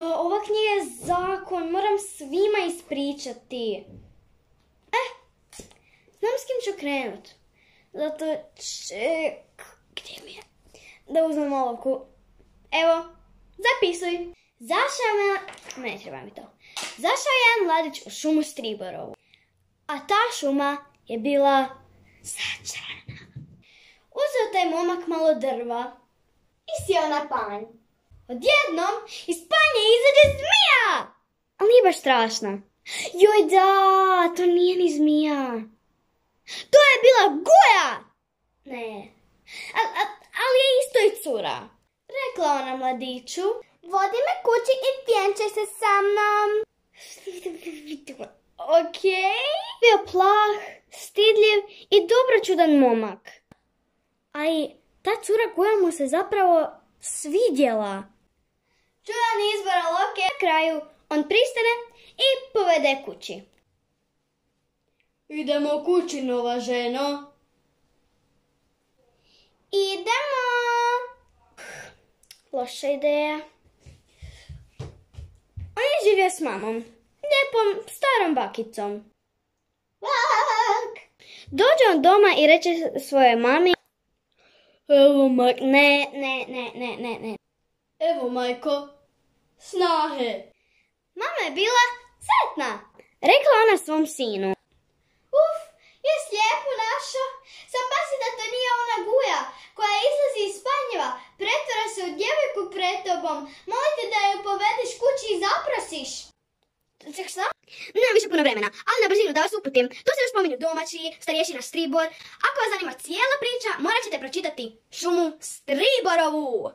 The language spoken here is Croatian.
Ova knjiga je zakon, moram svima ispričati. Znam s kim ću krenut. Zato gdje mi je? Da uzmem olovku. Evo, zapisuj. Ne treba mi to. Zašao je jedan mladić u šumu Striborovu. A ta šuma je bila začarana. Uzeo taj momak malo drva i sjeo na panj. Odjednom iz panje izađe zmija! Ali nije baš strašna. Joj da, to nije ni zmija. To je bila guja! Ne. Ali je isto i cura. Rekla ona mladiću, vodi me kući i vjenčaj se sa mnom. Okej. Bio plah, stidljiv i dobročudan momak. A i ta cura guja mu se zapravo svidjela. Čudan izbor olovke. Na kraju on pristane i povede kući. Idemo kući, nova ženo. Idemo. Loša ideja. On je živio s mamom. Lijepom starom bakicom. Dođe on doma i reče svojoj mami. Evo majko. Ne. Evo majko. Snahe. Mama je bila sretna. Rekla ona svom sinu. Uf, je slijepu našo. Sam pasi da to nije ona guja koja izlazi iz spanjeva. Pretvara se u djevojku pred tobom. Molite da ju povedeš kući i zaprosiš. Šta? Nemam više puno vremena, ali na brzinu da vas uputim. Tu se još spominju domaći, starješina Stribor. Ako vas zanima cijela priča, morat ćete pročitati Šumu Striborovu.